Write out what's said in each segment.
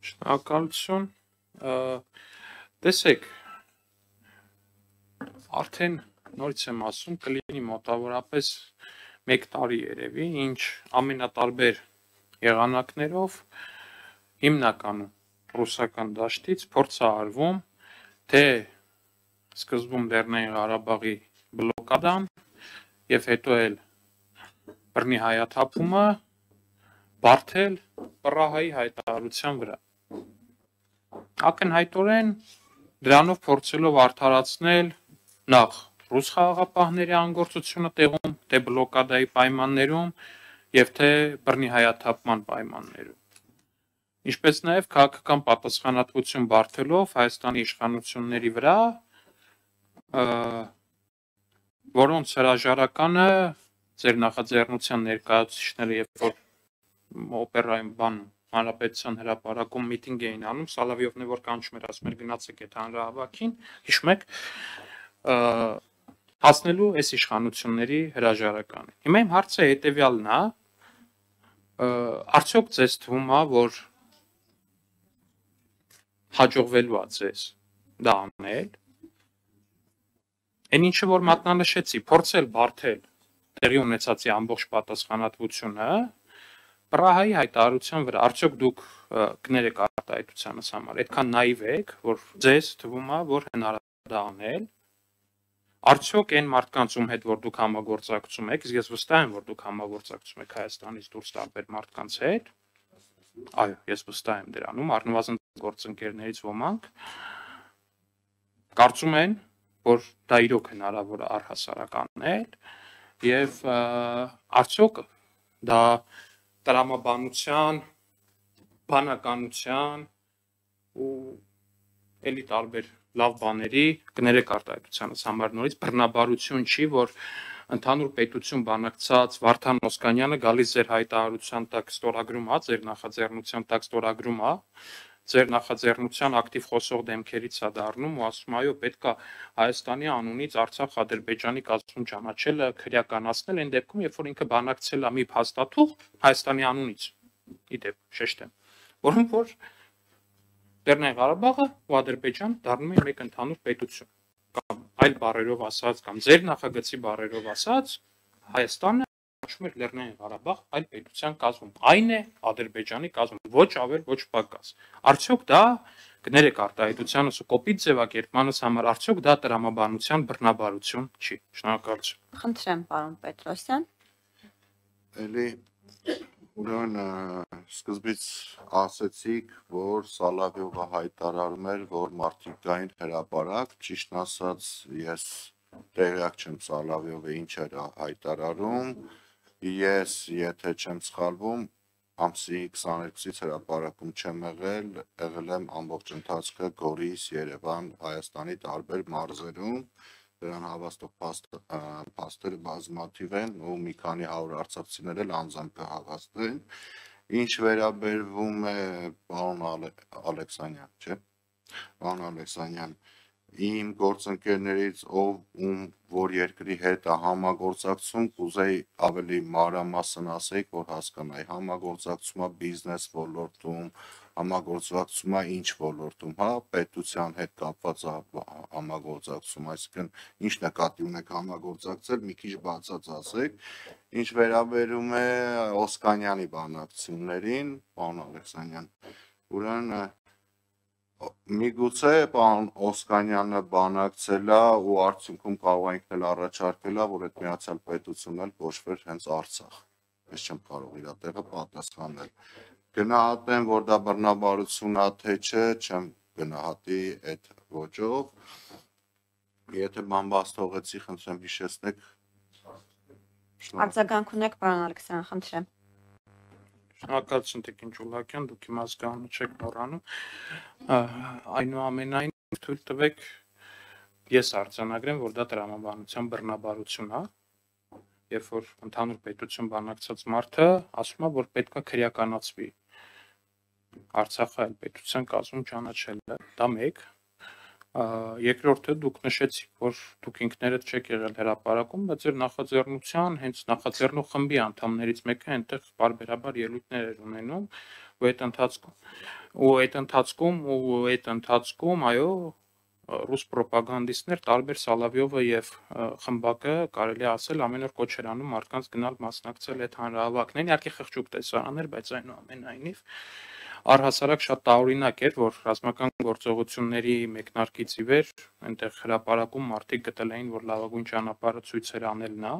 Շնորհակալություն։ Տեսեք, արդեն նորից եմ ասում, կլինի մոտավորապես 1 տարի երևի, ինչ ամենատարբեր եղանակներով հիմնականում ռուսական դաշտից փորձ է արվում, թե սկզբում Լեռնային Ղարաբաղի բլոկադան եւ հետո էլ բռնի հայաթափումը բարթել Պռահայի հայտարարության վրա։ Ակնհայտորեն դրանով փորձելով արդարացնել նախ ռուս խաղաղապահների անգործությունը տեղում, թե բլոկադայի պայմաններում եւ թե բռնի հայաթափման պայմաններում։ Ինչպես նաեւ քաղաքական պատասխանատվություն բարթելով Հայաստանի իշխանությունների վրա, որոնց հրաժարականը ձեր նախաձեռնության ներկայացուցիչները երբ որ օպերայում բան հանրապետության հրապարակում միտինգ էին անում, Սալավիովն է որ կանչում էր, ասում էր գնացեք այդ հանրահավաքին, հիշում եք, հասնելու այս իշխանությունների հրաժարականը։ Հիմա իմ հարցը հետեւյալն է, արդյոք ձեզ թվում է, որ հաջողվելու է ձեզ դա անել։ Այն ինչը որ մատնանշեցի, փորձել բարթել տեղի ունեցածի ամբողջ պատասխանատվությունը Պռահայի հայտարարության վրա, արդյոք դուք կներեք արտահայտությանս համար, այդքան նայվ եք, որ ձեզ թվում է, որ հնարավոր է անել, արդյոք այն մարդկանց ում հետ որ դուք համագործակցում եք, իսկ ես վստահ եմ, որ դուք համագործակցում եք Հայաստանից դուրս տարբեր մարդկանց հետ, այո, ես վստահ եմ դրանում, առնվազն գործընկերներից ոմանք կարծում են, որ դա իրոք հնարավոր է առհասարակ անել եւ արդյոք դա տրամաբանության, բանականության ու էլի տարբեր լավ բաների կներեք արտահայտությանս համար նորից բռնաբարություն չի, որ ընդհանուր պետություն բանակցած Վարդան Օսկանյանը գալիս ձեր հայտարարության տակ ստորագրում է, ձեր նախաձեռնության տակ ստորագրում է, ձեր նախաձեռնության ակտիվ խոսող դեմքերից է դառնում ու ասում այո պետք է Հայաստանի անունից Արցախ Ադրբեջանի կազմում ճանաչելը քրեականացնել այն դեպքում, երբ որ ինքը բանակցել է մի փաստաթուղթ Հայաստանի անունից, իդեպ շեշտեմ, որում որ Լեռնային Ղարաբաղը ու Ադրբեջան դառնում են մեկ ընդհանուր պետություն, կամ այլ բառերով ասած, կամ ձեր նախագծի բառերով ասած, Հայաստանը ճանաչում է Լեռնային Ղարաբաղ այլ պետության կազմում, այն է Ադրբեջանի կազմում, ոչ ավել, ոչ պակաս։ Արդյոք դա կներեք արտահայտությանս ու կոպիտ ձևակերպմանս համար, արդյոք դա տրամաբանության բռնաբարություն չի։ Շնորհակալություն։ Խնդրեմ, պարոն Պետրոսյան։ Էլի ուրեմն սկզբից ասեցիք, որ Սալավիովը հայտարարում էր, որ մարդիկ գային հրապարակ, ճիշտ ասած, ես տեղյակ չեմ Սալավիովը ինչ էր հայտարարում, ես եթե չեմ սխալվում, ամսի 22-ից հրապարակում չեմ եղել եմ ամբողջ ընթացքը Գորիս, Երևան, Հայաստանի տարբեր մարզերում, դրան հավաստող փաստերը բազմաթիվ են ու մի քանի 100 արցախցիներ էլ անձամբ կհավաստեն, ինչ վերաբերվում է պարոն Ալեքսանյան, չէ՞, պարոն Ալեքսանյան, իմ գործընկերներից ում որ երկրի հետ է համագործակցում, կուզեի ավելի մանրամասն ասեիք, որ հասկանայի, համագործակցում է բիզնես ոլորտում, համագործակցում է ինչ ոլորտում, հա, պետության հետ կապված համագործակցում, այսինքն ինչ նկատի ունեք համագործակցել, մի քիչ բացած ասեք, ինչ վերաբերում է Օսկանյանի բանակցություններին, պարոն Ալեքսանյան, ուրեմն միգուցե պարոն Օսկանյանը բանակցել է ու արդյունքում կարող է ինքն էլ առաջարկել է, որ այդ միացյալ պետությունն էլ կոչվեր հենց Արցախ, ես չեմ կարող իր տեղը պատասխանել, գնահատեմ, որ դա բռնաբարություն է, թե չէ, չեմ գնահատի այդ ոճով, եթե բան բաց թողեցի, խնդրեմ հիշեցնեք, արձագանք ունեք, պարոն Ալեքսանյան, խնդրեմ։ Շնորհակալություն Տիկին Ջուլակյան, դուք իմ ազգանունը չեք մոռանում, այնուամենայնիվ թույլ տվեք ես արձանագրեմ, որ դա տրամաբանության բռնաբարություն է, երբ որ ընդհանուր պետություն բանակցած մարդը ասում է, որ պետք է քրեականացվի Արցախը այլ պետության կազմում ճանաչելը, դա մեկ, երկրորդը դուք նշեցիք, որ դուք ինքներդ չեք եղել հրապարակում, բայց ձեր նախաձեռնության, հենց նախաձեռնող խմբի անդամներից մեկը այնտեղ պարբերաբար ելույթներ էր ունենում, ու այդ ընթացքում այո ռուս պրոպագանդիստներ տարբեր Սալավյովը եւ խմբակը կարելի ասել ամեն օր կոչ էր անում մարդկանց գնալ մասնակցել այդ հանրահավաքներին, իհարկե խղճուկ տեսարաններ, բայց այնուամենայնիվ առհասարակ շատ տարօրինակ էր, որ ռազմական գործողությունների մեկնարկից ի վեր այնտեղ հրապարակում մարդիկ գտել էին, որ լավագույն ճանապարհը ցույց էր անել նա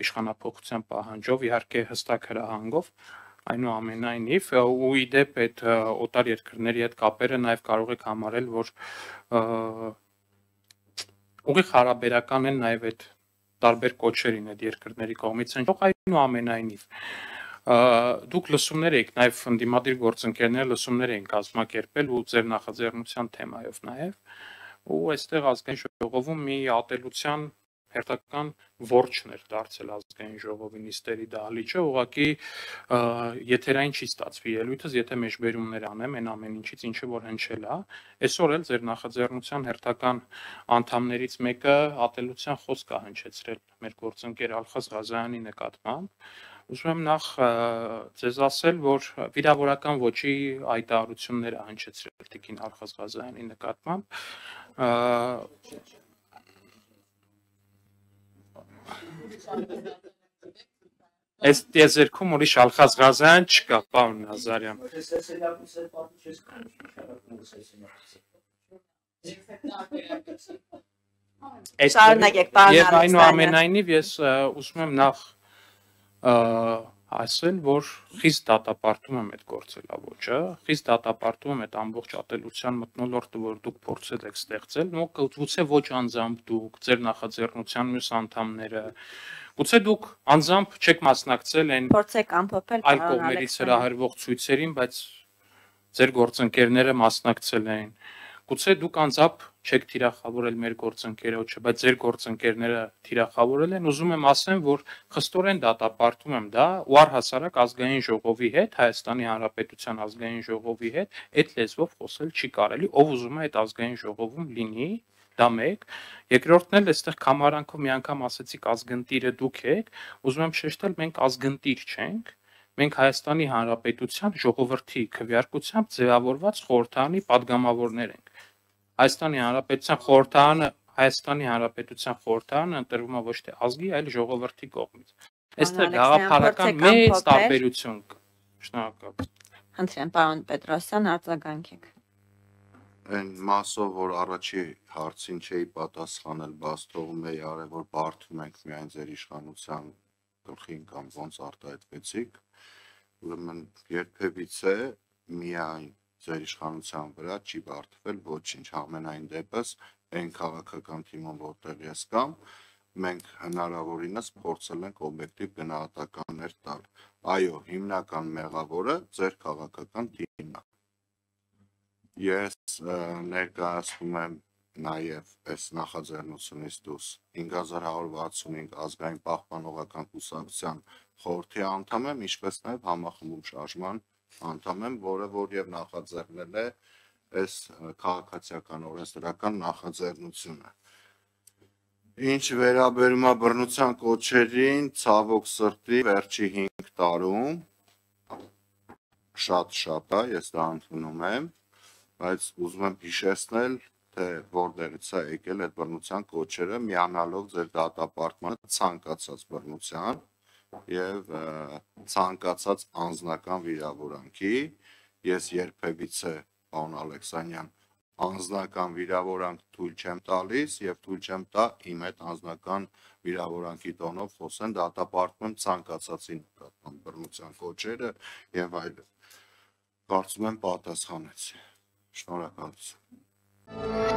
իշխանափոխության պահանջով, իհարկե հստակ հրահանգով, այնուամենայնիվ ու ի դեպ այդ օտար երկրների հետ կապերը նաև կարող եք համարել, որ ուղիղ հարաբերական են նաև այդ տարբեր կոչերին այդ երկրների կողմից են, այնուամենայնիվ դուք լսումներ եք, նաև ընդդիմադիր գործընկերները լսումներ էին կազմակերպել ու ձեր նախաձեռնության թեմայով նաև, ու այստեղ ազգային ժողովում մի ատելության հերթական որջն էր դարձել ազգային ժողովի նիստերի դահլիճը, ուղղակի եթերային չի ստացվի ելույթս, եթե մեջբերումներ անեմ այն ամեն ինչից, ինչը որ հնչել է, այսօր էլ ձեր նախաձեռնության հերթական անդամներից մեկը ատելության խոսք է հնչեցրել մեր գործընկեր Ալխազ Ղազարյանի նկատմամբ, ուզում եմ նախ ձեզ ասել, որ վիրավորական ոճի հայտարարություններ է հնչեցրել տիկին Ալխազ Ղազարյանի նկատմամբ, Այս տիեզերքում ուրիշ Ալխազ Ղազարյան չկա, պարոն Նազարյան։ Շարունակեք, պարոն Եվ Ալեքսանյան։ այնուամենայնիվ ես ուզում եմ նախ ասել, որ խիստ դատապարտում եմ այդ գործելավոճը, խիստ դատապարտում եմ այդ ամբողջ ատելության մթնոլորտը, որ դուք փորձել եք ստեղծել, գուցե ոչ անձամբ դուք, ձեր նախաձեռնության մյուս անդամները, գուցե դուք անձամբ չեք մասնակցել այն Փորձեք ամփոփել, այլ կողմերից հրահրվող ցույցերին, բայց ձեր գործընկերները մասնակցել էին։ Գուցե դուք անձամբ չեք թիրախավորել մեր գործընկերոջը, բայց ձեր գործընկերները թիրախավորել են, ուզում եմ ասեմ, որ խստորեն դատապարտում եմ դա ու առհասարակ ազգային ժողովի հետ, Հայաստանի Հանրապետության ազգային ժողովի հետ այդ լեզվով խոսել չի կարելի, ով ուզում է այդ ազգային ժողովում լինի, դա մեկ, երկրորդն էլ այստեղ կամարանքով մի անգամ ասեցիք ազգընտիրը դուք եք, ուզում եմ շեշտել, մենք ազգընտիր չենք, մենք Հայաստանի Հանրապետության ժողովրդի քվեարկությամբ ձևավորված խորհրդարանի падգամավորներ ենք։ Հայաստանի Հանրապետության խորհրդարանը ընտրվում է ոչ թե ազգի, այլ ժողովրդի կողմից։ Այստեղ գաղափարական մեծ տարբերություն կա։ Շնորհակալ։ Խնդրեմ, պարոն Պետրոսյան, արձագանքեք։ Այն մասով, որ առաջի հարցին չէի պատասխանել, բաց թողում էի արել, որ բարդում ենք միայն ձեր իշխանության գլխին կամ ոնց արտահայտվեցիք, ուրեմն երբևիցե միայն ձեր իշխանության վրա չի բարդվել ոչինչ, ամենայն դեպս այն քաղաքական թիմում, որտեղ ես կամ, մենք հնարավորինս փորձել ենք օբյեկտիվ գնահատականներ տալ։ Այո, հիմնական մեղավորը ձեր քաղաքական թիմն է։ Ես ներկայացնում եմ նաև այս նախաձեռնությունից դուրս 5165 ազգային պահպանողական կուսակցության խորհրդի անդամ եմ, ինչպես նաև համախմբում շարժման անդամ եմ, որը որ եւ նախաձեռնել է այս քաղաքացիական օրենսդրական նախաձեռնությունը։ Ինչ վերաբերում է բռնության կոչերին, ցավոք սրտի վերջի 5 տարում շատ է, ես դա ընդունում եմ, բայց ուզում եմ հիշեցնել, թե որտեղից է եկել այդ բռնության կոչերը, միանալով ձեր դատապարտմանը ցանկացած բռնության եւ ցանկացած անձնական վիրավորանքի, ես երբևիցե, պարոն Ալեքսանյան, անձնական վիրավորանք թույլ չեմ տալիս եւ թույլ չեմ տա իմ այդ անձնական վիրավորանքի տոնով խոսեն, դատապարտում եմ ցանկացածի նկատմամբ բռնության կոչերը եւ այլն։ Կարծում եմ պատասխանեցի։ Շնորհակալություն։